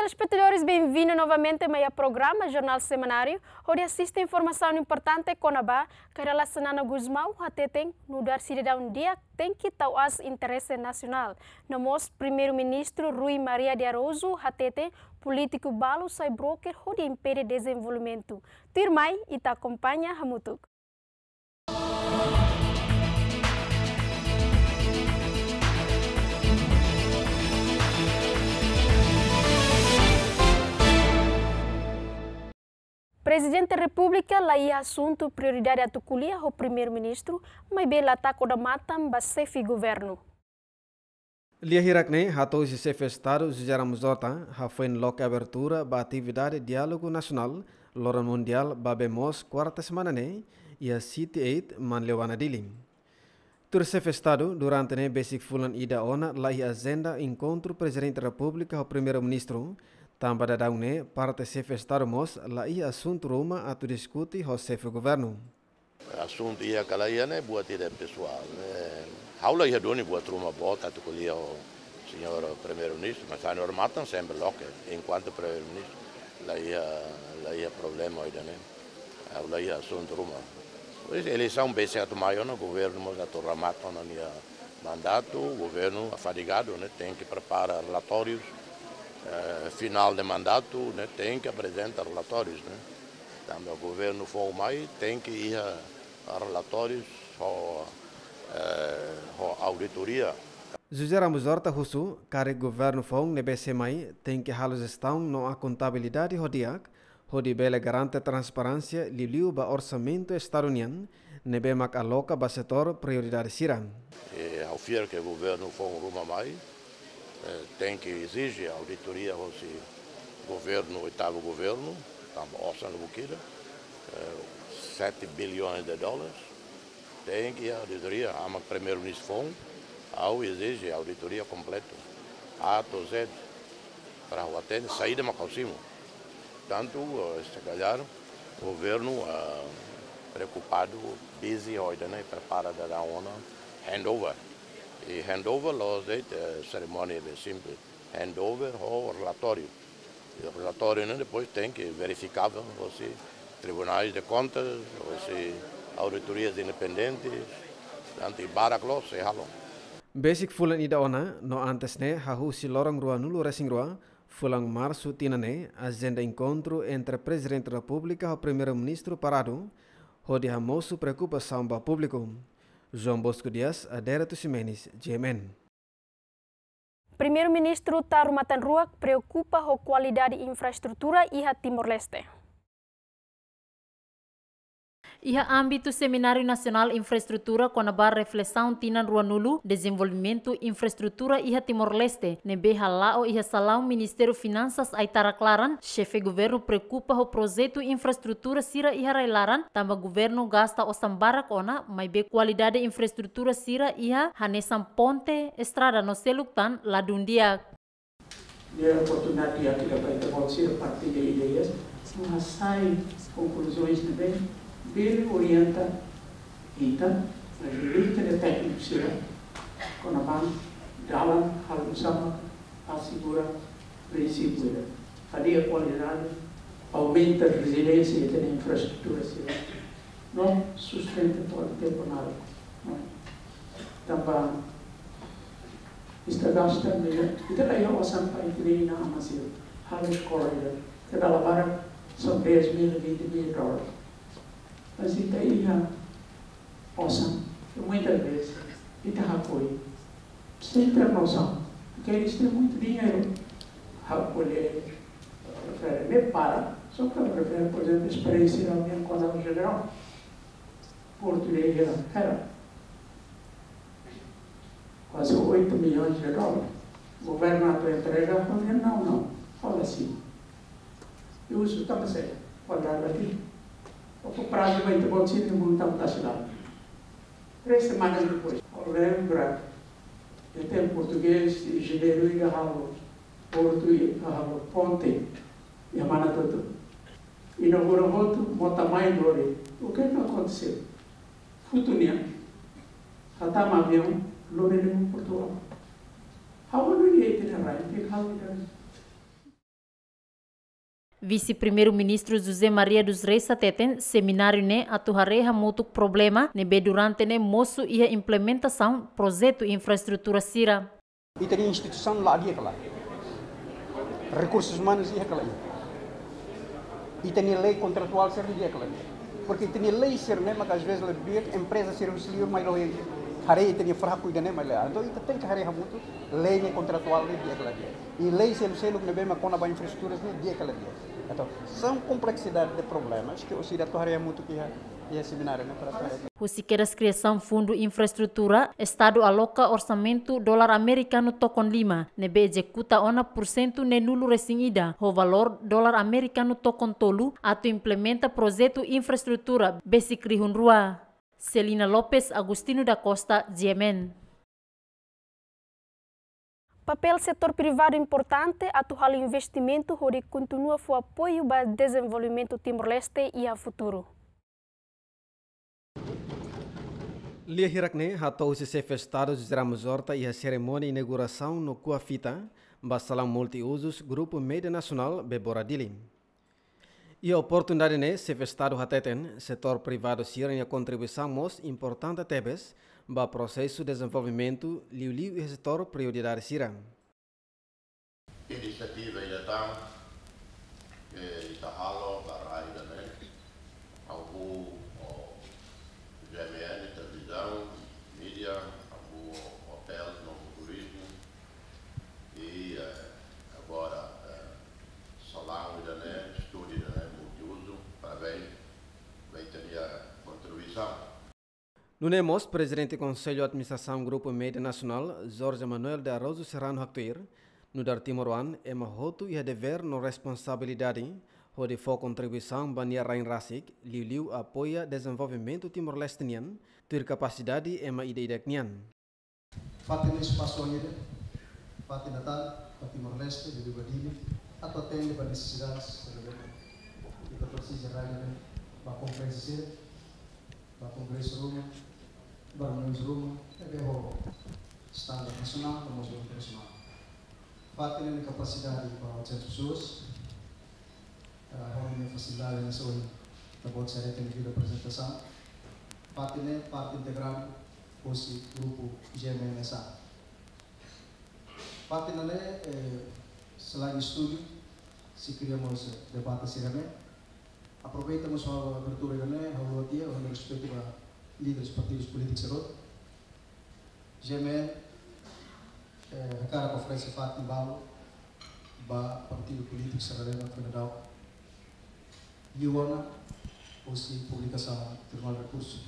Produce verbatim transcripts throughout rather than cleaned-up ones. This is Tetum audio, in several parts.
Telespetadores, bem-vindo novamente mai iha programa Jornál Semanáriu, hodi asiste informasaun importante kona-ba kaer Xanana Gusmão hateten nu'udar sidadaun di'ak tenke tau aas interese nasionál. No mós Primeiru-Ministru Rui Maria de Araújo hateten polítiku balu sai broker hodi impede dezenvolvimentu. Tuirmai, ita akompaña hamutuk. Prezidente Repúblika la iha asuntu prioridade atu ko'alia ho Primeiru-Ministru, maibé la taka odamatan ba xefe governu. Lia hirak ne'e hato'o husi Xefe Estadu José Ramos Horta, hafoin loke abertura ba atividade diálogu nasionál loron mundiál ba bee moos kuarta semana ne'e, iha City eight, Manleuana, Dili. Tuir Xefe Estadu, durante ne'e besik fulan ida ona la iha ajenda enkontru Prezidente Repúblika ho Primeiru-Ministru, tanba daudaun ne'e parte Xefe Estadu mós la iha asuntu ruma atu diskute ho Xefe Governu. Asuntu iha ka la iha ne'e buat ida pesoál, ne'e. Ha'u la iha duni buat ruma boot atu ko'alia ho señór Primeiru-Ministru, mas ha'u-nia odamatan sempre loke, enkuantu Primeiru-Ministru la iha, la iha problema ida-ne'e. Ha'u la iha asuntu ruma. Pois, eleisaun besik atu mai ona, governu mós atu remata ona nia mandatu, governu fadigadu, ne'e, tenke prepara relatórius, eh, finál de mandatu, ne'e, tenke aprezenta relatórius, ne'e. Tanba governu foun mai, tenke iha relatórius ho, eh, ho auditoria. José Ramos Horta husu, karik governu foun ne'ebé sei mai, tenke halo jestaun no akontabilidade ho di'ak, hodi bele garante transparénsia liuliu ba orsamentu Estadu nian, ne'ebé mak aloka ba setór prioridade sira. E ha'u fiar ke governu foun ruma mai, eh, tenke ezije auditoria hosi governu, oitavu governu, tanba osan la buat ida, eh, sete bilhões de dólares. Tenke auditoria, aman Primeiru-Ministru foun, ha'u ezije auditoria kompletu. A to Z, para ha'u hatene saida mak ha'u simu. Tantu, eh, se calhar, governu, ah, preokupadu, busy, ho ida-ne'e, prepara daudaun ona handover. I handover la'ós de'it, eh, serimónia be simples. Handover ho relatóriu. I relatóriu ne'e depois tenke verifikável hosi Tribunais de Contas, hosi auditorias independentes, tantu i barak loos sei halo. Besik fulan ida ona, no antes ne'e, hahú husi loron ruanulu-resin-rua, fulan Marsu tinan ne'e, ajenda enkontru entre Prezidente Repúblika ho Primeiru-Ministru paradu, hodi hamosu preokupasaun ba públiku. João Bosco Dias, Adérito Ximenes, G M N. Primeiru-Ministru Taur Matan Ruak preokupa ho kualidade infraestrutura iha Timor-Leste. Iha ámbitu Semináriu Nasionál Infraestrutura kona-ba reflesaun tinan ruanulu, dezenvolvimentu infraestrutura iha Timor-Leste, ne'ebé hala'o iha salaun Ministériu Finansas Aitarak laran, Xefe Governu preokupa ho projetu infraestrutura sira iha rai-laran, tanba governu gasta osan barak ona, maibé kualidade infraestrutura sira iha hanesan ponte, estrada no seluk tan ladún di'ak. Iha oportunidade di'ak ida ba ita-boot sira partilla ideias, no hasai konkluzoens ne'ebé bele orienta ita, no ajuda ita-nia tékniku sira, kona-ba dalan halo nu'usá mak asegura prinsípiu ida. Fadiga kualidade, aumenta reziliénsia ita-nia infraestrutura sira, no sustenta to'o tempu naruk, no? Tanba ita gasta milhões, ita la iha osan para ita-nia inan-aman sira halo eskola ida, ita dala barak são dez mil, vinte mil dólares. Mas ita iha osan, e muitas vezes ita hakoi sem ter noção, porque eles têm muito dinheiro. Hakoi, prefere nem para, só que prefere, por exemplo, experiência da minha conta geral. Portu de Hera, Hera. Quase oito milhões de dólares. Governu atu entrega, fala, não, não. Fala assim. E o uso está certo. Olha aqui. O prazo vai ter bom sítio, não está da cidade. Três semanas depois, eu lembro, eu tenho português, engenheiro, e halo portu, e halo ponte, e a mana tudo. Inaugura hotu, mota mai lori. O que que aconteceu? Futu nian, hatama aviaun, lori lori Portugal. Ha'u hanoin iha ita-nia rai, ita halo ida-ne'e. Vise-Primeiru-Ministru José Maria dos Reis hateten, semináriu ne'e atu haree hamutuk problema ne'ebé durante ne'e mosu iha implementasaun projetu infraestrutura sira. Ita-nia instituisaun la di'ak kala. Rekursus umanus di'ak kala. Ita-nia lei kontratuál sira di'ak kala. Porque ita-nia lei sira ne'e maka às vezes la di'ak, empreza sira husi liur mai lori haree ita-nia fraku ida-ne'e mai la. Entaun ita tenke haree hamutuk lei ne'e kontratuál ne'e di'ak kala. I lei seluk-seluk ne'ebé mak kona-ba infraestrutura ne'e di'ak kala. Entaun são complexidade de problemas que orsida atu haree hamutuk iha, iha semináriu ne'e para Husi kedas kriasaun Fundu Infraestrutura, Estadu aloka orsamentu dolar amerikanu tokon lima, ne'ebé ezekuta ona pursentu neenulu-resin-ida, ho valór dolar amerikanu tokon tolu, atu implementa projetu infraestrutura besik rihun rua. Celina Lopes, Agostinho da Costa, G M N. Papél setór privadu importante atu halo investimentu hodi kontinua fó apoiu ba dezenvolvimentu Timor-Leste iha futuru. Lia hirak ne'e hato'o husi Xefe Estadu José Ramos Horta iha serimónia inaugurasaun no ko'a fita ba salaun multiuzus Grupu Média Nasionál Bebora Dili. Iha oportunidade ne'e, Xefe Estadu hateten, setór privadu sira-nia kontribuisaun mós importante tebes ba prosesu dezenvolvimentu, liuliu iha setór prioridade sira. Inisiativa ida tan, eh, ita halo ba rai ida-ne'e, hahú ho G M N, televizaun, mídia, hahú ho hotél no turizmu, i, eh, agora, eh, salaun ida-ne'e, estúdiu ida-ne'e, multiuzu, parabéns ba ita-nia kontribuisaun. Nune'e mós, Prezidente Konsellu Administrasaun Grupu Média Nasionál, Jorge Manuel de Araújo Serrano haktuir, nu'udar timoroan, ema hotu iha devér no responsabilidade hodi fó kontribuisaun ba nia rain rasik, liuliu apoia dezenvolvimentu Timor-Leste nian, tuir kapasidade ema ida-idak nian. Fatin ne'e espasu ida, fatin Natál, ba Timor-Leste, liuliu ba Dili, atu atende ba nesesidade sira ne'ebé ita presiza rai ne'e, ba konferénsia sira, ba kongresu ruma, ba reuniões ruma, ne'ebé ho standard nasionál, no mós internasionál. Fatin ne'e kapasidade ba oitocentas pessoas, eh, ho nia fasilidade ne'e ohin ita-boot sira hatene iha aprezentasaun. Fatin ne'e parte integrante husi grupu G M N S A. Fatin ne'e, eh, selain estúdiu, sei kria mós debate sira-ne'e. Aproveita mós halo abertura ida-ne'e, halo tiha, halo respeitu ba líderes partidus polítikus sira hotu. G M N, eh, hakarak oferese fatin balu ba partidu polítiku sira-ne'ebé foin daudaun liu ona husi publikasaun Tribunál Rekursu.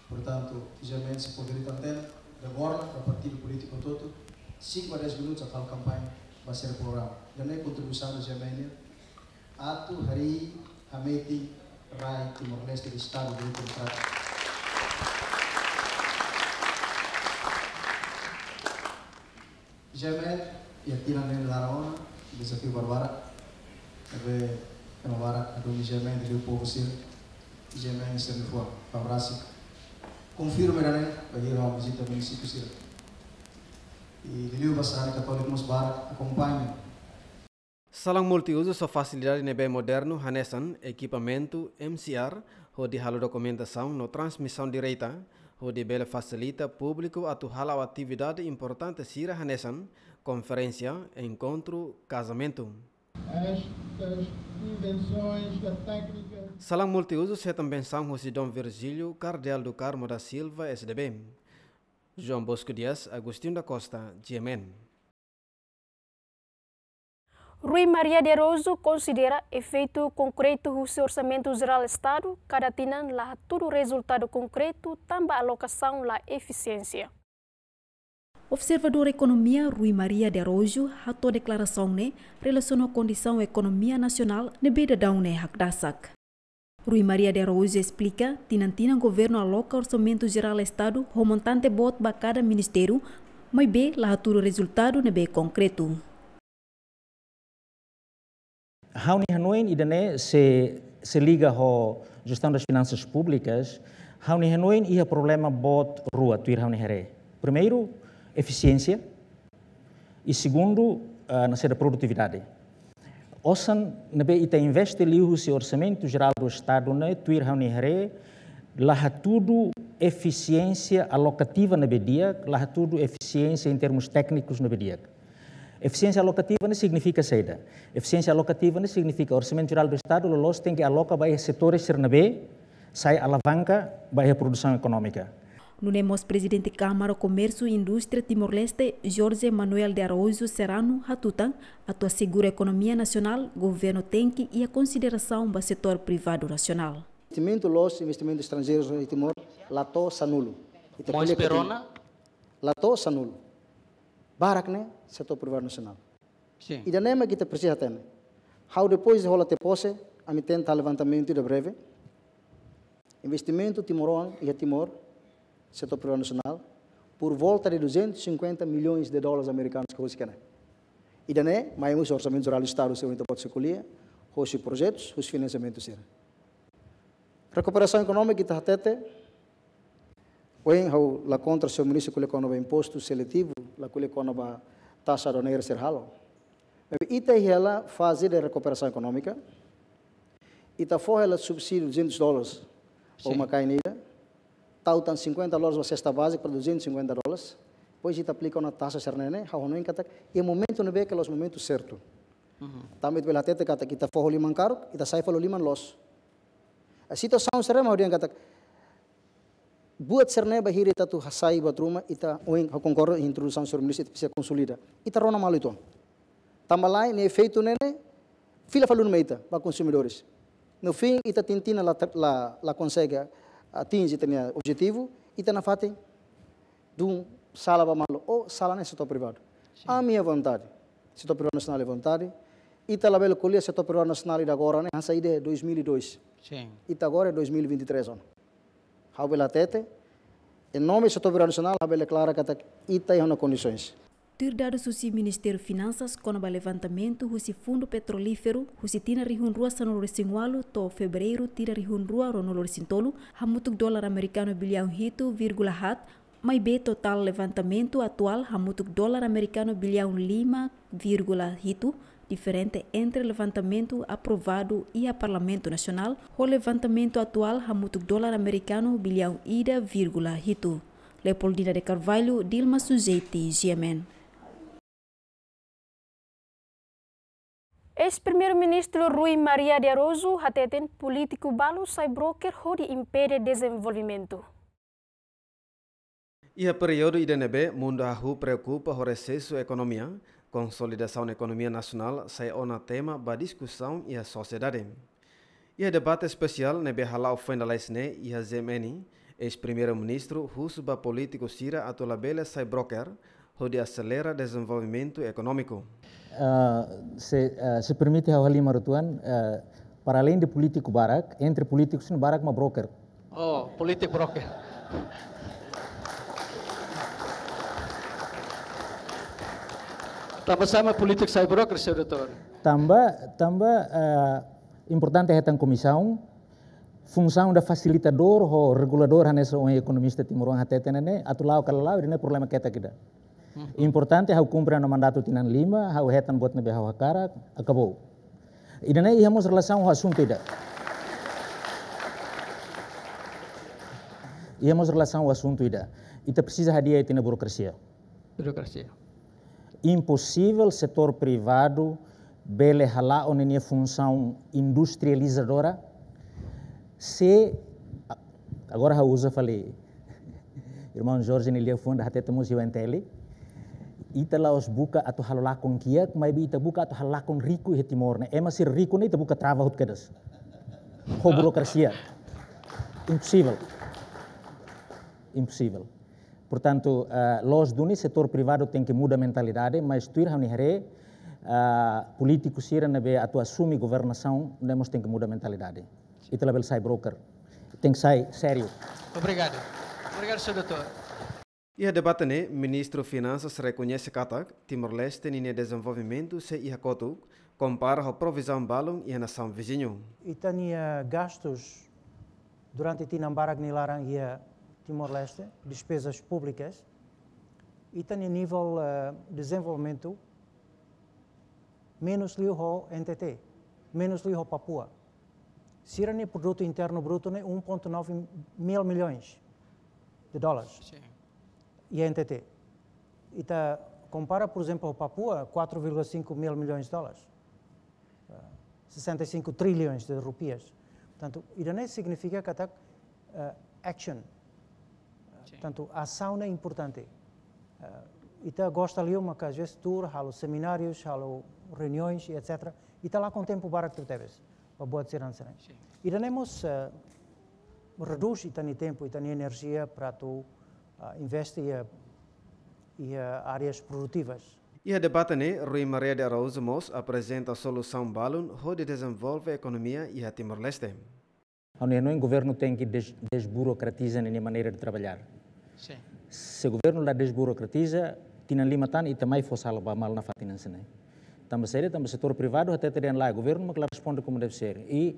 Portantu, G M N sei poder tanten, de agora, ba partidu polítiku hotu-hotu, cinco a dez minutos atu halo kampaña ba sira programa. Ida-ne'e kontribuisaun G M N nian, atu harii hametin rai Timor-Leste de Estadu Direitu Demokrátiku. G M N, iha tinan ne'e laran ona, dezafiu barak-barak. Ne'ebé, ema barak, atu G M N, liuliu povu sira, G M N sira-nia fuan, fó abraço. Konfirma ida-ne'e, ba hira vizita munisípiu sira. I liuliu ba sarani katóliku mós barak, akompaña. Salaun multiuzus ho fasilidade ne'ebé modernu hanesan ekipamentu M C R, hodi halo dokumentasaun no transmisaun direta, hodi bele fasilita públiku atu hala'o atividade importante sira hanesan konferénsia, enkontru, kazamentu. Estas invenções da técnica. Salaun multiuzus hetan bensaun husi Dom Virgílio, Kardeál do Carmo da Silva, S D B. João Bosco Dias, Agostinho da Costa, G M N. Rui Maria de Araújo konsidera efeitu konkretu husi Orsamentu Jerál Estadu kada tinan la hatudu rezultadu konkretu tanba alokasaun la efisiénsia. Observadór ekonomia Rui Maria de Araújo hato'o deklarasaun ne'e relasiona ho kondisaun ekonomia nasionál ne'ebé daudaun ne'e hakdasak. Rui Maria de Araújo esplika, tinan-tinan governu aloka Orsamentu Jerál Estadu ho montante boot ba kada ministériu, maibé la hatudu rezultadu ne'ebé konkretu. Ha'u-nia hanoin ida-ne'e sei, sei liga ho Gestão das Finanças Públicas, ha'u-nia hanoin iha problema boot rua tuir ha'u-nia haree. Primeiru, efisiénsia, i segundu, ah, nasida produtividade. Osan ne'ebé ita investe liuhusi Orsamentu Jerál do Estadu ne'e, tuir ha'u-nia haree, la hatudu efisiénsia alokativa ne'ebé di'ak, la hatudu efisiénsia em termos técnicos ne'ebé di'ak. Efisiénsia alokativa ne'e signifika saida? Efisiénsia alokativa ne'e signifika Orsamentu Jerál do Estadu loloos tenke aloka ba iha setores sira ne'ebé sai alavanka ba iha produsaun ekonómika. Nune'e mós Prezidente Kámara Komérsiu i Indústria Timor-Leste, Jorge Manuel de Araújo Serrano, hatutan atu asegura ekonomia nasionál, governu tenke iha konsiderasaun ba setór privadu nasionál. Investimentu loos, investimentu estranjeiru iha Timor, la to'o sanulu. Ita Mons ko'alia Perona? La to'o sanulu. Barak ne'e setór privadu nasionál. Sin. Ida-ne'e mak ita presiza hatene. Ha'u depois de hola tiha pose, ami tenta levantamentu ida breve. Investimentu timoroan iha Timor, setór privadu nasionál, por volta de duzentos e cinquenta milhões de dólares americanos ke husik ne'e. Ida-ne'e, mai husi Orsamentu Jerál do Estadu, se ita pode ko'alia, husi projetus, husi finansiamentu sira. Rekuperasaun ekonómika ita hatete, ohin ha'u la kontra señór ministru ko'alia kona-ba impostu seletivu, la ko'alia kona-ba taxa aduaneira sira halo. Maibé ita iha hela faze de rekuperasaun ekonómika, ita fó hela subsídiu duzentos dólares ba Sin. uma kain ida, tau tan cinquenta dólares ba sesta bázika para duzentos e cinquenta dólares, depois ita aplika ona taxa sira-ne'e, ha'u hanoin katak, iha momentu ne'ebé ke la'ós momentu sertu. Uhum. Tanba ita bele hatete katak ita fó ho liman karuk, ita sai fali ho liman loos. A situasaun sira-ne'e mak ha'u dehan katak, buat sira-ne'e bainhira ita atu hasai buat ruma, ita ohin ha'u konkorda introdusaun señór ministru, ita presiza konsolida. Ita rona malu uitoan. Tanba lae, nia efeitu ne'e ne'e, fila fali duni mai ita, ba konsumidores. No fim, ita tenke la, la, la konsege atinje ita-nia objetivu, ita nafatin dun sala ba malu, ou sala ne'e setór privadu. Sin. Ami iha vontade, setór privadu nasionál iha vontade, ita labele ko'alia setór privadu nasionál ida agora ne'e, hanesan ida dois mil e dois. Sin. Ita agora é dois mil e vinte e três ona. Ha'u bele hatete, em nome setór privadu nasionál, ha'u bele deklara katak ita iha ona kondisoens. Tuir dadus husi Ministériu Finansas kona-ba levantamentu husi Fundu Petrolíferu, husi tinan rihun rua sanulu-resin-ualu to'o Fevereiru tinan rihun rua ruanulu-resin-tolu, hamutuk dolar amerikanu biliaun hitu vírgula haat, maibé totál levantamentu atuál hamutuk dolar amerikanu biliaun lima vírgula hitu, diferente entre levantamentu aprovadu iha Parlamentu Nasionál ho levantamentu atuál hamutuk dolar amerikanu biliaun ida vírgula hitu. Leopoldina de Carvalho, Dilma Sujeti, G M N. Eis-Primeiru-Ministru Rui Maria de Araújo hateten polítiku balu sai broker hodi impede dezenvolvimentu. Iha períodu ida ne'ebé mundu hahú preokupa ho resesu ekonomia, konsolidasaun ekonomia nasionál sai ona tema ba diskusaun iha sosiedade. Iha debate espesiál ne'ebé hala'o foin lalais ne'e iha G M N, eis-Primeiru-Ministru husu ba polítiku sira atu labele sai broker, hodi aselera dezenvolvimentu ekonómiku. Ah, se, ah, se permite ha'u halimar uitoan, ah, para além de polítiku barak, entre polítikus ne'e barak mak broker. Oh, polítiku broker. Tanba sá mak polítiku sai broker, señór doutór? Tanba, tanba, ah, importante hetan komisaun, funsaun ida fasilitadór ho reguladór hanesan ohin ekonomista timoroan hateten ne'e, atu la'o ka la la'o, ida-ne'e problema ketak ida. Uhum. Importante ha'u kumpre ha'u-nia mandatu tinan lima, ha'u hetan buat ne'ebé ha'u hakarak, akabou. Ida-ne'e iha mós relasaun ho asuntu ida. Iha mós relasaun ho asuntu ida. Ita presiza hadi'a ita-nia burokrasia. Burokrasia. Imposivel setór privadu bele hala'o ninia funsaun industrializadora se, a-, agora ha'u uza fali irmaun Jorge nia liafuan ida hateten mós iha O N T L, ita la'ós buka atu halo lakon kiak, maibé ita buka atu halo lakon riku iha Timor ne'e. Ema sira riku ne'e ita buka trava hotu kedas. Ho burokrasia. Imposivel. Imposivel. Portantu, eh, loos duni setór privadu tenke muda mentalidade, mas tuir ha'u-nia haree, eh, polítiku sira ne'ebé atu asume governasaun, ne'e mós tenke muda mentalidade. Ita labele sai broker. Tenke sai sériu. Obrigadu. Obrigadu, señór doutór. Iha debate ne'e, Ministru Finansas rekoñese katak Timor-Leste ninia dezenvolvimentu sei iha kotuk, kompara ho provizaun balun iha nasaun viziñu. Ita-nia gastus durante tinan barak nia laran iha Timor-Leste, despezas públikas, ita-nia nivel, eh, dezenvolvimentu Menus liu ho N T T, menus liu ho Papua. Sira-nia produtu internu brutu ne'e um ponto nove mil milhões de dólares. Sin. Iha N T T. Ita kompara, por exemplo, ho Papua, quatro vírgula cinco mil milhões de dólares. Ah, sessenta e cinco trilhões de rupias. Portanto, ida-ne'e signifika katak, eh, action. Sin. Portanto, asaun ne'e importante. Eh, ita gosta liu maka às vezes tour, halo seminárius, halo reuniões, etcetera. Ita lakon tempu barak tebes para buat sira-ne'e. Sin. Ida-ne'e mós, eh, redús ita-nia tempu, ita-nia enerjia para atu, ah, investe iha, iha áreas produtivas. Iha debate ne'e, Rui Maria de Araújo mós aprezenta solusaun balun hodi dezenvolve ekonomia iha Timor-Leste. Ha'u hanoin governu tenke des-, desburokratiza ninia maneira de trabalhar. Sin. Se governu la desburokratiza, tinan lima tan ita mai fó sala ba malu nafatin hanesan ne'e. Tanba saida, tanba setór privadu hatete dehan lae, governu mak la responde como deve ser. I,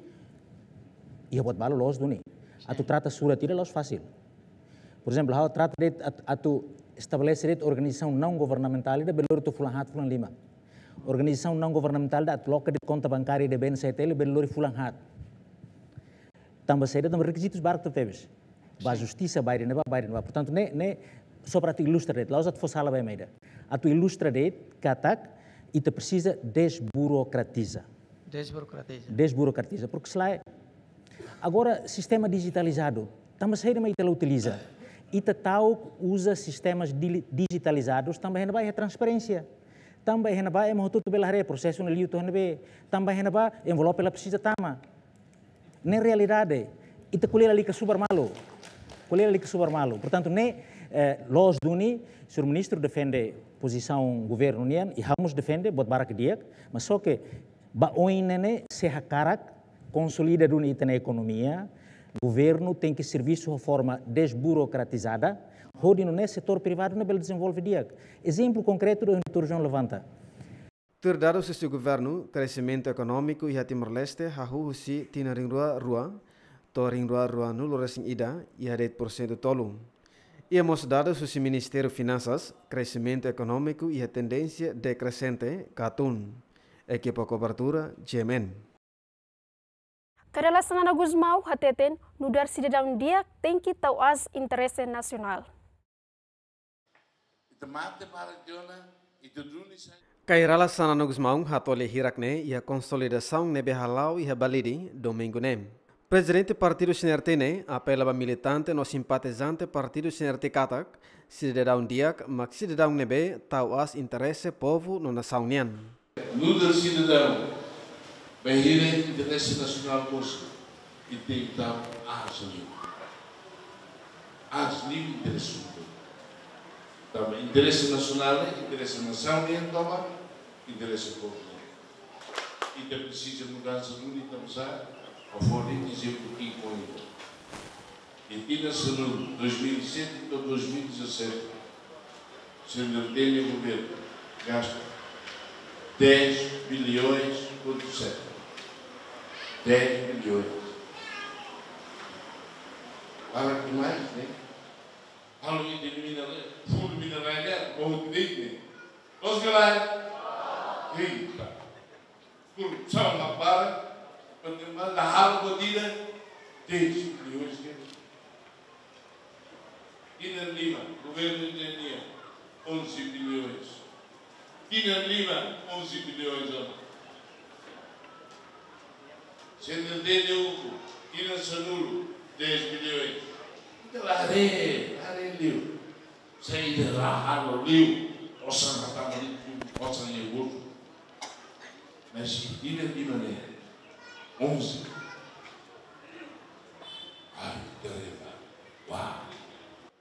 i buat balu loos duni. Sin. Atu trata surat ida la'ós fasil. Por ezemplu, ha'u trata de'it at-, atu estabelese de'it organizasaun naun governamentál ida bele lori to'o fulan haat, fulan lima. Organizasaun naun governamentál ida atu loke de'it konta bankária ida B N C T L bele lori fulan haat. Tanba saida, tanba rekizitus barak tebes. Ba, sin, justisa, ba ida-ne'ebá, ba ida-ne'ebá. Portantu, ne'e, ne'e, só para atu ilustra de'it, la'ós atu fó sala ba ema ida. Atu ilustra de'it katak ita presiza desburokratiza. Desburokratiza. Desburokratiza, porque se lae, agora sistema dijitalizadu, tanba saida mak ita la utiliza. Ita ta'uk uza sistemas dili-, dijitalizadus, tanba iha ne'ebá iha transparénsia. Tanba iha ne'ebá ema hotu-hotu bele haree prosesu ne'e liu to'o iha ne'ebé. Tanba iha ne'ebá envelope la presiza tama. Ne'e realidade. Ita ko'alia lalika subar malu. Ko'alia lalika subar malu. Portantu, ne'e, eh, loos duni, señór ministru defende pozisaun governu nian, i ha'u mós defende, buat barak di'ak, mas só ke ba oin ne'e ne'e, se hakarak konsolida duni ita-nia ekonomia, governu tenke servisu ho forma desburokratizada, hodi nune'e setór privadu ne'e bele dezenvolve di'ak. Ezemplu konkretu ida ohin doutór João levanta. Tuir dadus husi governu, kresimentu ekonómiku iha Timor-Leste hahú husi tinan rihun rua rua to'o rihun rua ruanulu resin ida iha de'it porsentu tolu. Iha mós dadus husi Ministériu Finansas, kresimentu ekonómiku iha tendénsia dekresente ka tun. Ekipa kobertura, G M N. Kay Rala Xanana Gusmão hateten, nu'udar sidadaun di'ak tenke tau aas interese nasionál. Ita mate para Jona, ita duni sai. Kay Rala Xanana Gusmão hato'o lia hirak ne'e iha konsolidasaun ne'ebé hala'o iha Balide, domingu ne'e. Prezidente Partidu C N R T ne'e apela ba militante no simpatizante Partidu C N R T katak, sidadaun di'ak mak sidadaun ne'ebé tau aas interese povu no nasaun nian. Nu'udar sidadaun, bainhira interese nasionál mós, ita tenke tau aas liu. Aas liu interese povu. Tanba interese nasionál, interese nasaun nian tomak, interese povu nian. Ita presiza mudansa duni, ita presiza fó ezemplu ki'ik ohin. Iha tinan sanulu, dois mil e sete to'o dois mil e dezassete, C N R T nia governu gasta dez bilhões ponto sete. Dez bilhões. Para que mais, né? Halo ita mineral, fundu mineral, né? Bom, direito, né? Loos ka lae? Eita. Korrupsaun la para, panema la halo buat ida, dez bilhões ke. Tinan lima, governu nian, onze bilhões. Tinan lima, onze bilhões ona. C N R T nia ukun, tinan sanulu, dez bilhões. Ita la haree, la haree liu. Saida la halo liu, osan hatama liu, osan iha bolsu. Mas ida di mana? Onze. Ai, tereba. Wah.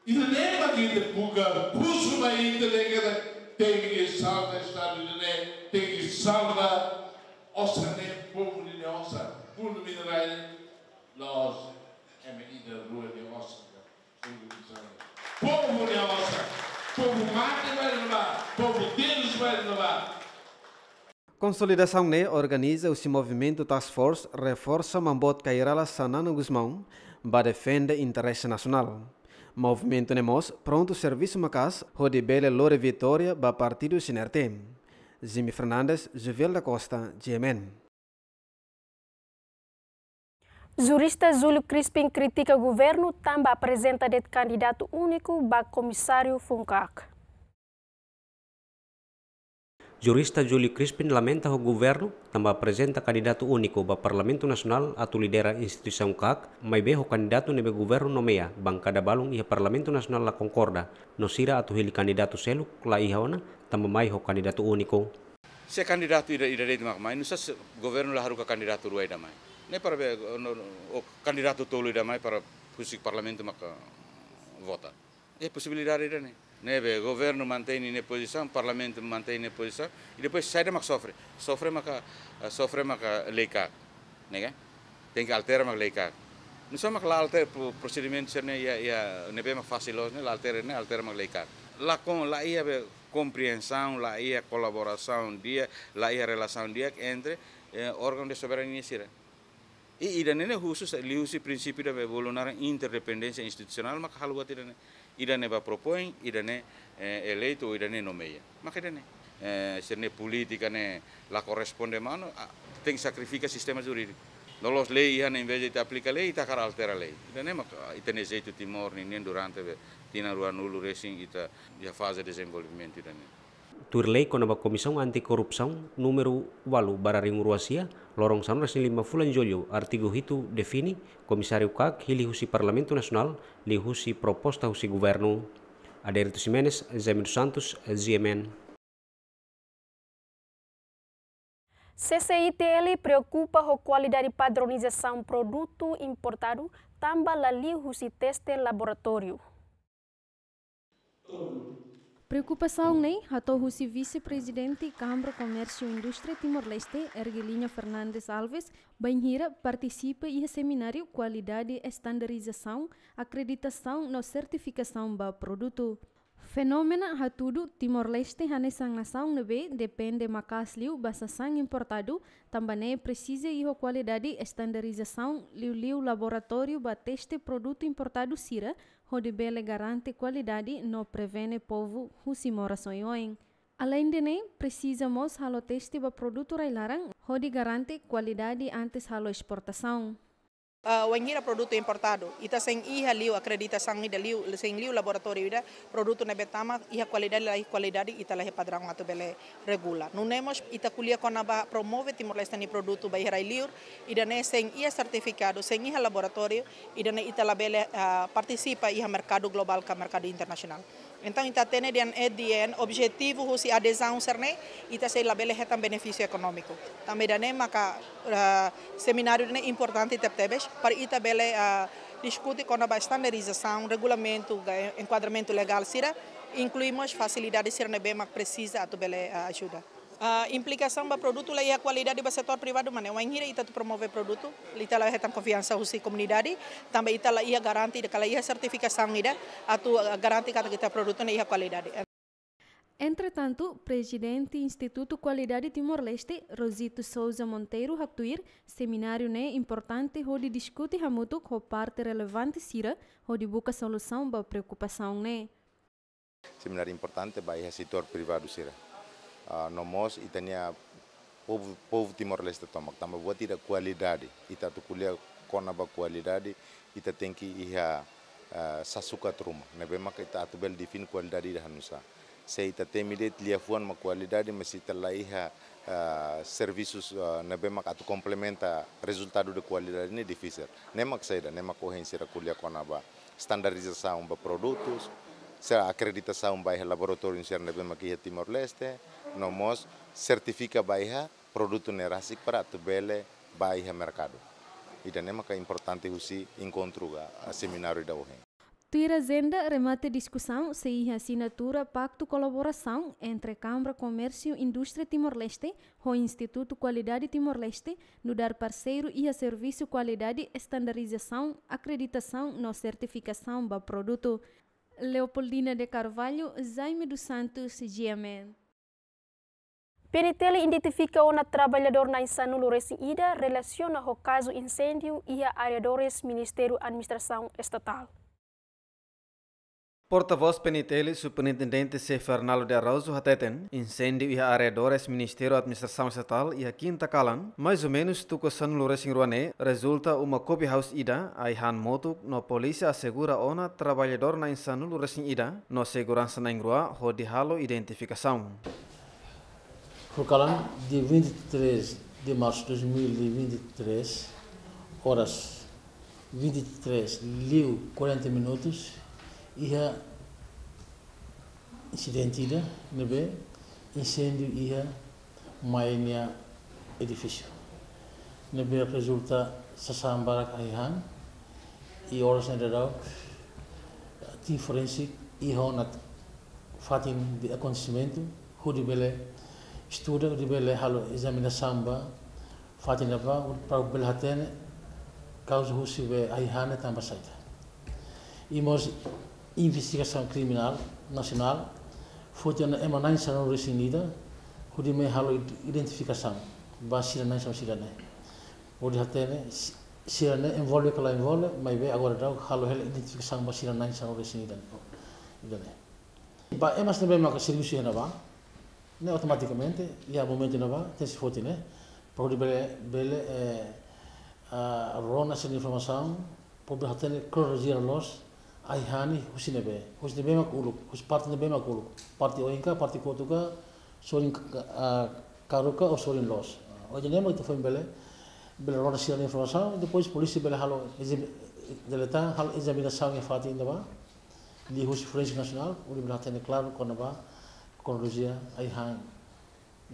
Ida-ne'e mak ita buka, husu mai ita dehan katak tenke salva Estadu ida-ne'e, tenke salva osan ne'e, povu nia osan, fundu minerál ne'e, la'ós ema ida rua nia osan. Povu nia osan, povu mate ba iha ne'ebá, povu terus ba iha ne'ebá. Konsolidasaun ne'e organiza husi Movimentu Task Force reforsa Maun Boot Kay Rala Xanana Gusmão ba defende interese nasionál. Movimentu ne'e mós prontu servisu maka'as hodi bele lori vitória ba partidu C N R T. Jimmy Fernandes, Juvel da Costa, G M N. Jurista Júlio Crispin kritika governu tanba aprezenta de'it kandidatu úniku ba komisáriu FUNCAC. Jurista Júlio Crispin lamenta ho governu tanba aprezenta kandidatu úniku ba Parlamentu Nasionál atu lidera instituisaun CAC, maibé ho kandidatu ne'ebé governu nomeia, bankada balun iha Parlamentu Nasionál la konkorda, no sira atu hili kandidatu seluk la iha ona, tanba mai ho kandidatu úniku. Se kandidatu ida, ida de'it mak mai, nusá se governu la haruka kandidatu rua ida mai? Ne'e para be, no, no, o kandidatu tolu ida mai para husi parlamentu maka vota. Iha posibilidade ida-ne'e. Ne'ebé governu mantein nia pozisaun, parlamentu mantein nia pozisaun, i depois saida mak sofre? Sofre maka, eh, sofre maka lei CAC, ne'e ka? Tenke altera mak lei CAC. Nusá mak la altera pro-, prosedimentu sira-ne'e iha, iha, ne'ebé mak fasil loos ne'e, la altera ne'e, altera mak lei CAC. La kon, la iha be kompriensaun, la iha kolaborasaun di'ak, la iha relasaun di'ak entre, eh, órgaun de soberania sira. I ida-ne'e ne'e husu sa liuhusi prinsípiu ida be bolu naran interdependénsia institusionál maka halo buat ida-ne'e. Ida-ne'e ba propoin, ida-ne'e, eh, eleitu, ida-ne'e nomeia. Maka ida-ne'e, eh, sira-nia polítika ne'e la korresponde manu, ah, tenke sakrifika sistema jurídiku. No la'ós lei iha ne'e, envezde ita aplika lei, ita hakarak altera lei. Ida-ne'e maka ita-nia jeitu Timor ninian durante be tinan ruanulu resin ita iha faze dezenvolvimentu ida-ne'e. Tuir lei kona-ba Komisaun Anti-Korrupsaun númeru ualu barra rihun rua sia, loron sanulu-resin-lima fulan Jullu, artigu hitu define, Komisáriu CAC hili husi Parlamentu Nasionál, liuhusi proposta husi governu. Adérito Ximenes, Jaime dos Santos, G M N. C C I T L preokupa ho kualidade padronizasaun produtu importadu tanba la liu husi teste laboratóriu. Preokupasaun ne'e hato'o husi Vise-Prezidente Kámara Komérsiu Indústria Timor-Leste, Ergelinha Fernandes Alves, bainhira partisipa iha semináriu kualidade estandarizasaun, akreditasaun no sertifikasaun ba produtu. Fenómenu hatudu Timor-Leste hanesan nasaun ne'ebé depende maka'as liu ba sasán importadu, tanba ne'e presiza iha kualidade estandarizasaun, liuliu laboratóriu ba teste produtu importadu sira, hodi bele garante kualidade no prevene povu husi moras oioin. Aleinde ne'e, presiza mós halo teste ba produtu rai-laran, hodi garante kualidade antes halo esportasaun. Ah, wainhira produtu importadu, ita sein iha liu akreditasaun ida liu, sein liu laboratóriu ida, produtu ne'ebé tama iha kualidade, la iha kualidade, ita la iha padraun atu bele regula. Nune'e mós ita ko'alia kona-ba promove Timor-Leste nia produtu ba iha rai-liur, ida-ne'e sein iha sertifikadu, sein iha laboratóriu, ida-ne'e ita labele, ah, partisipa iha merkadu globál ka merkadu internasionál. Entaun, ita hatene dehan, eh, dehan objetivu husi adezaun sira-ne'e, ita sei labele hetan benefísiu ekonómiku. Tanba ida-ne'e maka, ah, semináriu ne'e importante tebetebes, para ita bele, ah, diskute kona-ba estandarizasaun, regulamentu, ga-, enkuadramentu legál sira, inklui mós fasilidade sira ne'ebé mak presiza atu bele, ah, ajuda. Ah, implikasaun ba produtu la iha kualidade ba setór privadu mak ne'e, wainhira ita atu promove produtu, ita la hetan konfiansa husi komunidade, tanba ita la iha garante, ita la iha sertifikasaun ida, atu, ah, garante katak ita produtu ne'e iha kualidade. Entretantu, Prezidente Institutu Kualidade Timor-Leste, Rosito Sousa Monteiro, haktuir, semináriu ne'e importante hodi diskute hamutuk ho parte relevante sira, hodi buka solusaun ba preokupasaun ne'e. Semináriu importante ba iha setór privadu sira. Ah, no mós ita-nia povu, povu Timor-Leste tomak, tanba buat ida kualidade. Ita atu ko'alia kona-ba kualidade, ita tenke iha, ah, sasukat ruma. Ne'ebé maka ita atu bele define kualidade ida hanu'usá. Se ita temi de'it liafuan mak kualidade, mas ita la iha, ah, servisus, ah, ne'ebé maka atu komplementa rezultadu de kualidade ne'e difisil. Ne'e mak saida, ne'e mak ohin sira ko'alia kona-ba estandarizasaun ba produtus, sira akreditasaun ba iha laboratóriu sira ne'ebé mak iha Timor-Leste, no mós sertifika ba iha produtu ne'e rasik para atu bele ba iha merkadu. Ida-ne'e maka importante husi enkontru ka, ah, semináriu ida ohin. Tuir ajenda, remate diskusaun sei iha asinatura paktu kolaborasaun entre Kámara Komérsiu Indústria Timor-Leste ho Institutu Kualidade Timor-Leste, nu'udar parseiru iha servisu kualidade, estandarizasaun, akreditasaun no sertifikasaun ba produtu. Leopoldina de Carvalho, Jaime dos Santos, G M N. P N T L identifika ona traballadór na'in sanulu-resin-ida relasiona ho kazu inséndiu iha arredores Ministériu Administrasaun Estatál. Portavós P N T L, Superintendente Sefernalo de Araújo hateten, insêndiu iha arredores Ministériu Administrasaun Estatál iha kinta kalan, mais ou menus tuku sanulu-resin-rua ne'e, rezulta uma coffee house ida, ai-han motuk, no polísia asegura ona traballadór na'in sanulu-resin-ida, no seguransa na'in-rua hodi halo identifikasaun. Por kalan, dia vinte e três de março de dois mil e vinte e três, horas vinte e três liu quarenta minutos, iha insidente ida ne'ebé insêndiu iha mai nia edifísiu. Ne'ebé rezulta sasán barak ai-han, i oras ne'e daudaun tim forensik iha ona fatin de akontesimentu, hodi bele estuda, hodi bele halo ezaminasaun ba fatin ne'ebá, para bele hatene kauza husi be ai-han ne'e tanba saida. I mós investigasaun kriminál nasionál foti ona ema na'in sanulu-resin-ida, hodi mai halo id-, identifikasaun ba sira na'in sanulu sira-ne'e. Hodi hatene si-, sira-ne'e envolve ka la envolve, maibé agora daudaun halo hela identifikasaun ba sira na'in sanulu-resin-ida, ida-ne'e. Ba ema sira ne'ebé maka servisu iha ne'ebá, ne'e automatikamente iha momentu ne'ebá tenke foti ne'e, para hodi bele, bele, eh, ah, rona sira-nia informasaun, para bele hatene kronolojia loos, ai-han ne'e husi ne'ebé, husi ne'ebé mak uluk, husi parte ne'ebé mak uluk, parte oin ka, parte kotuk ka, sorin ka, ah, karuk ka, ou sorin loos. Ah, ohin ne'e mak ita foin bele, bele rona sira-nia informasaun, depois polísia bele halo ezam-, deletan, halo ezaminasaun iha fatin ne'ebá, liuhusi Forensik Nasionál, hodi bele hatene klaru kona-ba kronolojia ai-han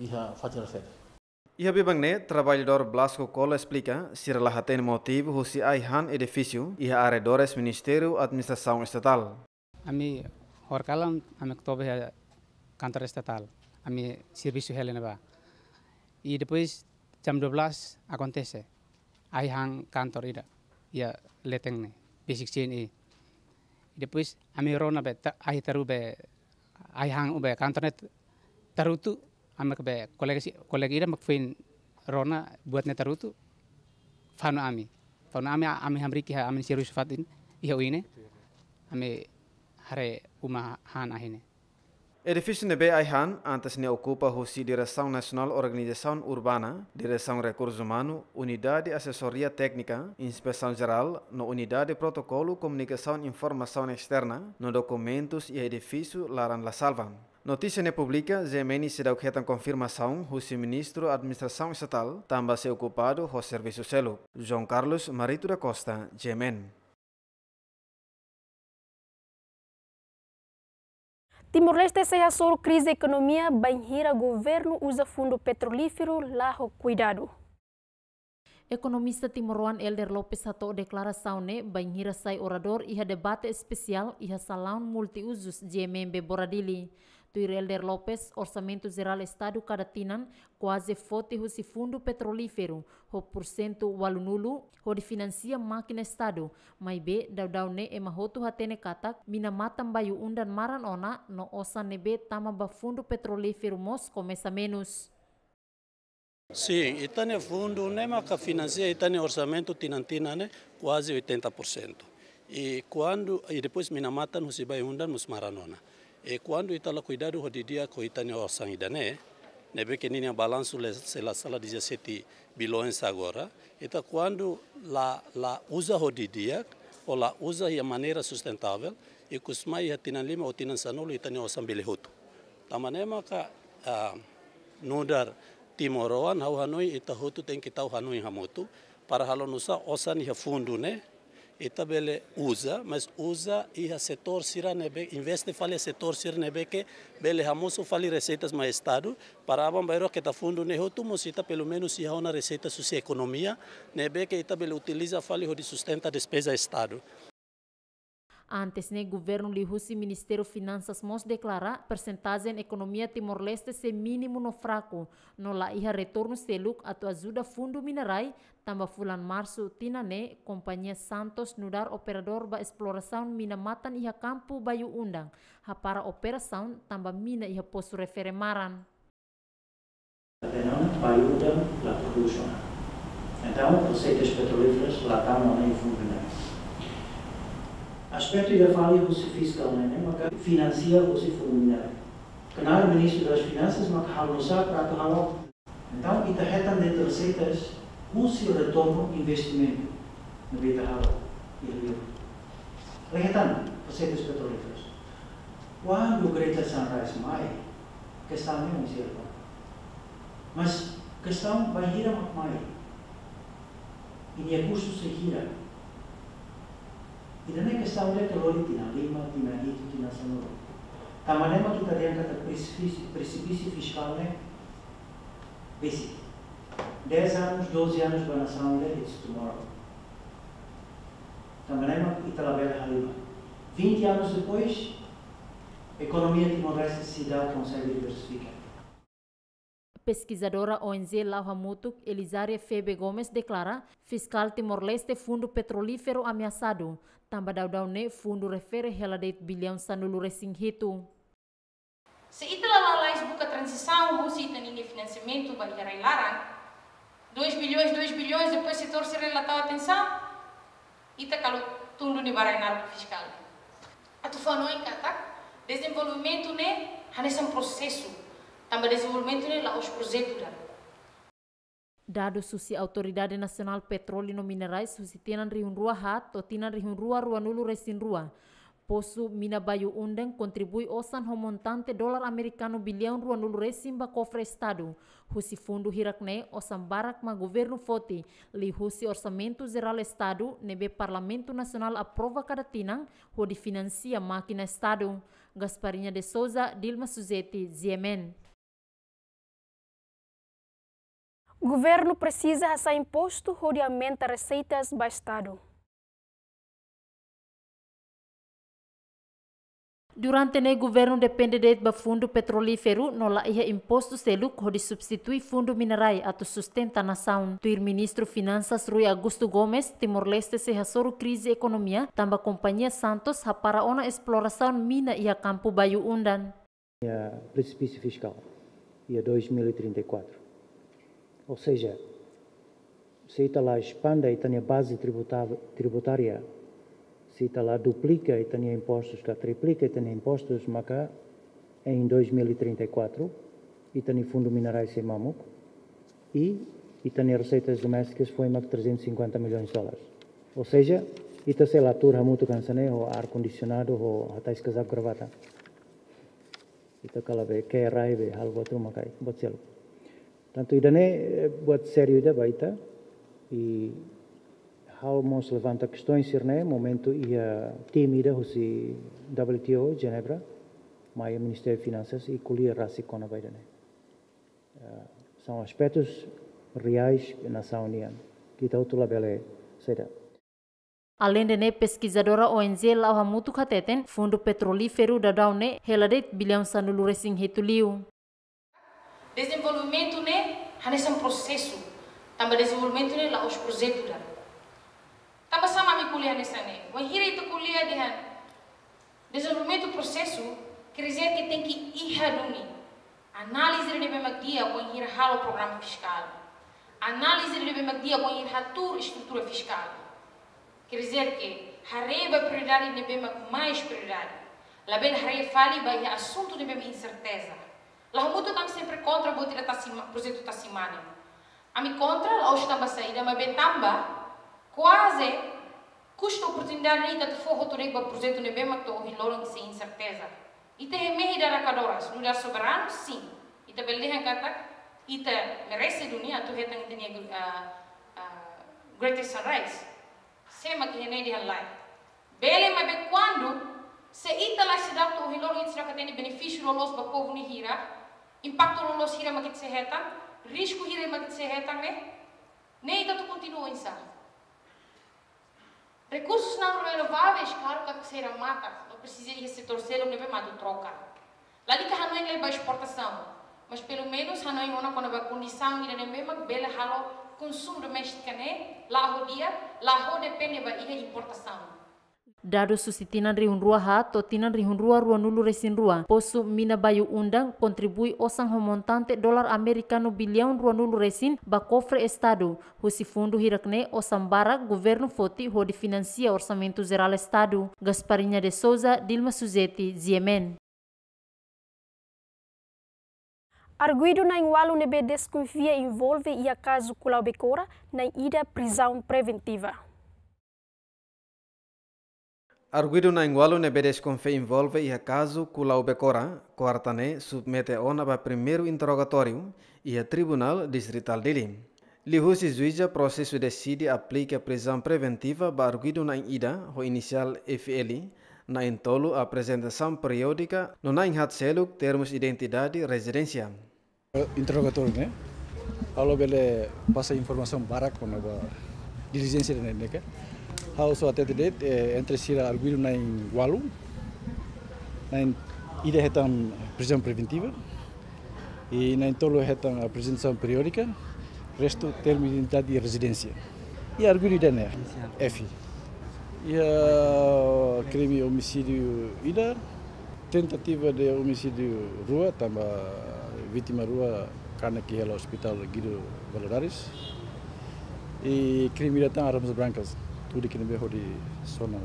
iha fatin refere. Iha biban ne'e, traballadór Blasco Cola esplika, sira la hatene motivu husi ai-han edifísiu iha arredores Ministériu Administrasaun Estatál. Ami horikalan, ami toba iha kantor estatál, ami servisu hela ne'ebá. I depois jam dua belas akontese ai-han kantor ida iha leten ne'e, besik C N E. I depois ami rona be ta-, ai taru be ai-han be kantor ne'e tarutu, ami ke be kolega si-, kolega ida mak foin rona buat ne'e tarutu, fanu ami. Fanu ami, ami hamriik iha ami servisu fatin iha oin ne'e, ami haree uma han ahi ne'e. Edifísiu ne'ebé ai-han antes ne'e okupa husi Diresaun Nasionál Organizasaun Urbana, Diresaun Rekursu Umanu, Unidade Asesoria Téknika, Inspesaun Jerál, no Unidade Protokolu Komunikasaun Informasaun Esterna, no dokumentus iha edifísiu laran la salva. Notísia ne'e publika, G M N seidauk hetan konfirmasaun husi Ministru Administrasaun Estatál, tanba sei okupadu ho servisu seluk. João Carlos Marito da Costa, G M N. Timor-Leste sei hasoru krize ekonomia bainhira governu uza fundu petrolíferu la ho kuidadu. Ekonomista timoroan Helder Lopes hato'o deklarasaun ne'e bainhira sai oradór iha debate espesiál iha salaun multiuzus G M M B Bora Dili. Tuir Helder Lopes, Orsamentu Jerál Estadu kada tinan kuaze foti husi fundu petrolíferu, ho pursentu ualunulu hodi finansia mákina Estadu, maibé daudaun ne'e ema hotu hatene katak mina matan Bayu-Undan maran ona no osan ne'ebé tama ba fundu petrolíferu mós komesa menus. Sin, ita-nia fundu ne'e maka finansia ita-nia orsamentu tinan-tinan ne'e kuaze oitenta por cento. I kuandu, i depois mina matan husi Bayu-Undan mós maran ona. I kuandu ita la kuidadu ho didi'ak ho ita-nia osan ida-ne'e, ne'ebé ke ninia balansu le-, se la sala dezassete bilhões agora, ita kuandu la, la uza ho didi'ak, ou la uza iha maneira sustentável, ikus mai iha tinan lima ou tinan sanulu ita-nia osan bele hotu. Tanba ne'e maka, ah, nu'udar timoroan, ha'u hanoin ita hotu tenke tau hanoin hamutuk, para halo nu'usá osan iha fundu ne'e, ita bele uza, mas uza iha setór sira ne'ebé, investe fali iha setór sira ne'ebé ke bele hamosu fali reseitas mai Estadu, para aban-bainrua keta fundu ne'e hotu mós ita pelumenus iha ona reseitas husi ekonomia, ne'ebé ke ita bele utiliza fali hodi sustenta despeza Estadu. Antes ne'e, governu liuhusi Ministériu Finansas mós deklara persentajen ekonomia Timor-Leste sei mínimu no fraku, no la iha retornu seluk atu ajuda fundu mina-rai, tanba fulan Marsu tinan ne'e, kompañia Santos nu'udar operadór ba esplorasaun mina matan iha kampu Bayu-Undan, hapara operasaun tanba mina iha posu refere maran. Até não, Bayu-Undan la produz ona. Entaun, reseitas petrolíferas la tama ona iha fundu ne'e. Aspetu ida fali husi fiskál ne'e, ne'e maka finansia husi fundu mineráiu. Knaar Ministru das Finansas maka halo nu'usá para atu halo. Entaun, ita hetan de'it reseitas husi retornu investimentu ne'ebé ita halo iha liur. Ita hetan reseitas petrolíferas. Kuandu Greater Sunrise mai, kestaun ne'e oinsá? Mas kestaun bainhira mak mai, i nia kustu sei hira? Ida-ne'e kestaun ida ke lori tinan lima, tinan hitu, tinan sanulu. Tanba ne'e mak ita dehan katak presipísiu, presipísiu fiskál ne'e besik. Dez anos, doze anos ba nasaun ida, it's tomorrow. Tanba ne'e mak ita labele halimar. Vinte anos depois, ekonomia Timor-Leste seidauk konsege diversifika. Peskizadora O N G La'o Hamutuk, Elizaria Febe Gomes, deklara fiskál Timor-Leste fundu petrolíferu ameasadu, tanba daudaun ne'e fundu refere hela de'it biliaun sanulu-resin-hitu. Se ita la lalais buka tranzisaun husi ita-nia finansiamentu ba iha rai-laran, dois bilhões, dois bilhões, depois setór sira la tau atensaun, ita kalu tun duni ba rai-naruk fiskál. Atu fó hanoin katak dezenvolvimentu ne'e hanesan prosesu, tanba dezenvolvimentu ne'e la'ós projetu ida. Dadus husi Autoridade Nasionál Petróleu no Minerais husi tinan rihun rua haat to'o tinan rihun rua ruanulu-resin-rua, posu mina Bayu-Undan kontribui osan ho montante dolar amerikanu biliaun ruanulu-resin ba kofre Estadu. Husi fundu hirak-ne'e, osan barak mak governu foti, liuhusi Orsamentu Jerál Estadu ne'ebé Parlamentu Nasionál aprova kada tinan, hodi finansia mákina Estadu. Gasparinha de Souza, Dilma Suzeti, G M N. Governu presiza hasa'e impostu hodi aumenta reseitas ba Estadu. Durante ne'e governu depende de'it ba fundu petrolíferu no la iha impostu seluk hodi substitui fundu mineráiu atu sustenta nasaun. Tuir Ministru Finansas Rui Augusto Gomes, Timor-Leste sei hasoru krize ekonomia, tanba kompañia Santos hapara ona esplorasaun mina iha kampu Bayu-Undan. Iha presipísiu fiskál iha dois mil e trinta e quatro. Ou seja, se ita la espande ita-nia baze tributa-, tributária, se ita la duplika ita-nia impostus, ka triplika ita-nia impostus, maka em dois mil e trinta e quatro, ita-nia fundu mineráiu sei mamuk, i ita-nia reseitas domésticas foin mak trezentos e cinquenta milhões de dólares. Ou seja, ita sei la tuur hamutuk hanesan ne'e ho ar-kondisionadu, ho hatais kazaku gravata. Ita kala be ke rai be halo buat ruma ka buat seluk. Tantu ida-ne'e, eh, buat sériu ida ba ita. I ha'u mós levanta kestaun sira-ne'e, momentu iha tim ida husi W T O, Jenebra, mai Ministériu Finansas i ko'alia rasik kona-ba ida-ne'e. Eh, são aspectos reais nasaun nian. Ita hotu labele saida. Aleinde ne'e, peskizadora O N G La'o Hamutuk hateten, fundu petrolíferu daudaun ne'e hela de'it biliaun sanulu-resin-hitu liu. Dezenvolvimentu ne'e hanesan prosesu, tanba dezenvolvimentu ne'e la'ós projetu ida. Tanba sá mak ami ko'alia hanesan ne'e? Wainhira ita ko'alia dehan dezenvolvimentu prosesu, quer dizer que tenke iha duni análize ida ne'ebé mak di'ak wainhira halo programa fiskál. Análize ida ne'ebé mak di'ak wainhira hatuur estrutura fiskál. Quer dizer que haree ba prioridade ne'ebé mak mais prioridade. Labele haree fali ba iha asuntu ne'ebé mak inserteza. La'o Hamutuk ami sempre kontra buat ida tasi ma-, projetu tasi mane. Ami kontra la'ós tanba saida, maibé tanba kuaze kustu oportunidade ne'e ita atu fó hotu de'it ba projetu ne'ebé mak to'o ohin loron sei inserteza. Ita iha mehi ida rakadoras, nu'udar soberanu, sin. Ita bele dehan katak ita merese duni atu hetan ita-nia, ah, ah, Greater Sunrise. Sé mak iha ne'e dehan lae? Bele, maibé kuandu, se ita la seidauk to'o ohin loron ita seidauk hatene benefísiu loloos ba povu nia hira, impaktu loloos hira mak ita sei hetan, risku hira mak ita sei hetan ne'e, ne'e ita atu kontinua oinsá? Rekursus não renováveis, klaru katak sei remata, no presiza iha setór seluk ne'ebé mak atu troka. Lalika hanoin lai ba esportasaun, mas pelumenus hanoin ona kona-ba kondisaun ida ne'ebé mak bele halo konsumu doméstika ne'e la'o di'ak, la'o depende ba iha importasaun. Dadus husi tinan rihun rua haat to'o tinan rihun rua ruanulu resin rua, posu mina Bayu Undang kontribui osan ho montante dolar amerikanu biliaun ruanulu resin ba kofre Estadu, husi fundu hirak-ne'e osan barak governu foti hodi finansia Orsamentu Jerál Estadu. Gasparinha de Souza, Dilma Suzeti, G M N. Arguidu na'in-ualu ne'ebé deskonfia envolve iha kazu Kulau Bekora, na'in-ida prizaun preventiva. Arguidu na'in-ualu ne'ebé deskonfia envolve iha kazu Kulau Bekora, kuarta ne'e submete ona ba primeiru interrogatóriu iha Tribunál Distritál Dili. Liuhusi juíza, prosesu deside aplika prizaun preventiva ba arguidu na'in-ida ho inisiál F L, na'in-tolu aprezentasaun periódika no na'in-haat seluk termus identidade rezidénsia. Interrogatóriu ne'e, ha'u la bele pasa informasaun barak kona-ba dilijénsia ne'e, ne'e ka. Ha'u só hatete de'it, eh, entre sira arguidu na'in-ualu, na'in-ida hetan prizaun preventiva, i na'in-tolu hetan aprezentasaun periódika, restu termu identidade rezidénsia. I arguidu ida-ne'e, F. Iha krime omisídiu ida, tentativa de omisídiu rua, tanba vítima rua kanek iha hela Ospitál Guido Valadares. I krime ida tan armas brancas, tuir krime hodi sona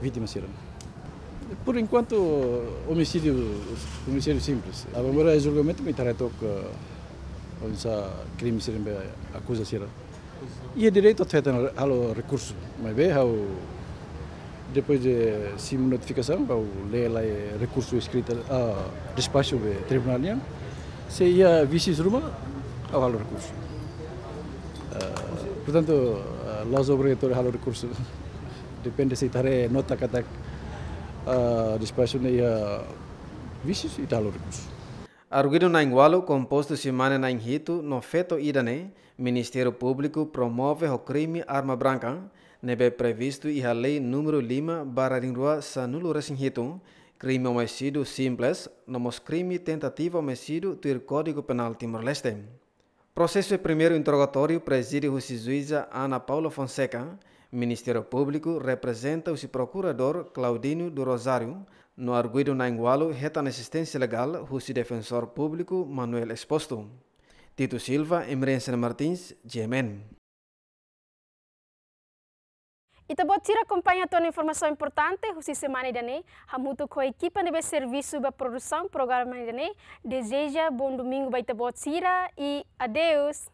vítima sira. Por enkuantu, omisídiu, omisídiu simples. Agora, iha julgamentu, ita haree took, eh, oinsá krime sira ne'ebé akuza sira. Iha direitu atu hetan, halo rekursu. Maibé ha'u, depois de simu notifikasaun, ha'u lee lai rekursu eskrita, ah, despaxu de tribunál nian. Se iha vísius ruma, ha'u halo rekursu. Ah, portantu, ah, la'ós obrigatóriu halo rekursu. Depende se ita haree nota katak, ah, despaxu ne'e iha vísius, ita halo rekursu. Arguidu na'in-ualu kompostu husi mane na'in-hitu no feto ida ne'e Ministériu Públiku promove ho krime arma branka, ne'ebé previstu iha lei númeru lima barra rihun rua sanulu resin hitu, krime omisídiu simples, no mós krime tentativa omisídiu tuir Kódigu Penál Timor-Leste. Prosesu primeiru interrogatóriu prezide husi juíza Ana Paula Fonseca, Ministériu Públiku reprezenta husi Prokuradór Claudinho do Rosário, no arguidu na'in-ualu hetan asisténsia legál husi Defensór Públiku Manuel Exposto. Tito Silva, Emerencia Martins, G M N. Ita-boot sira akompaña tiha ona informasaun importante husi semana ida-ne'e, hamutuk ho ekipa ne'ebé servisu ba produsaun programa ida-ne'e, dezeja bom domingu ba ita-boot sira i adeus.